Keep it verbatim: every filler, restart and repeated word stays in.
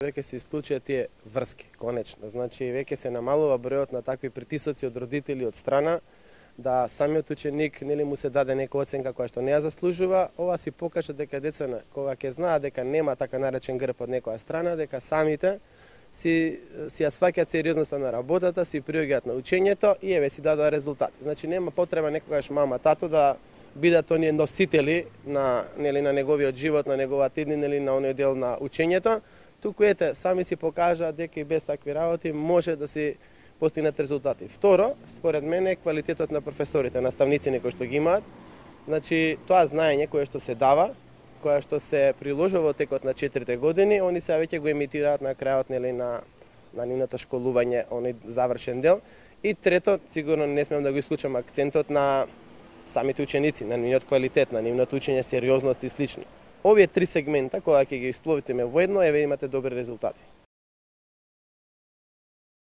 Веќе се исклучија тие врски, конечно. Значи, веќе се намалува бројот на такви притисоци од родители од страна, да самиот ученик нели му се даде нека оценка која што не ја заслужува. Ова си покажа дека децата кога ќе знаат дека нема така наречен грб од некоја страна, дека самите си си ја сваќаат сериозноста на работата, си приоѓаат на учењето и еве си дадоа резултати. Значи нема потреба некогаш мама, тато да бидат оние носители на нели на неговиот живот, на неговата иднина или на оној дел на учењето. Туку ете, сами си покажаат дека и без такви работи може да се постигнат резултати. Второ, според мене, квалитетот на професорите, наставниците кои што ги имаат. Значи, тоа знаење кое што се дава, кое што се приложува во текот на четирите години, они се веќе го емитираат на крајот нели на на нивното школување, оној завршен дел. И трето, сигурно не смеам да го исклучам акцентот на самите ученици, на нивниот квалитет, на нивното учење, сериозност и слично. Овие три сегмента, кога ќе ги испловите во едно, еве имате добри резултати.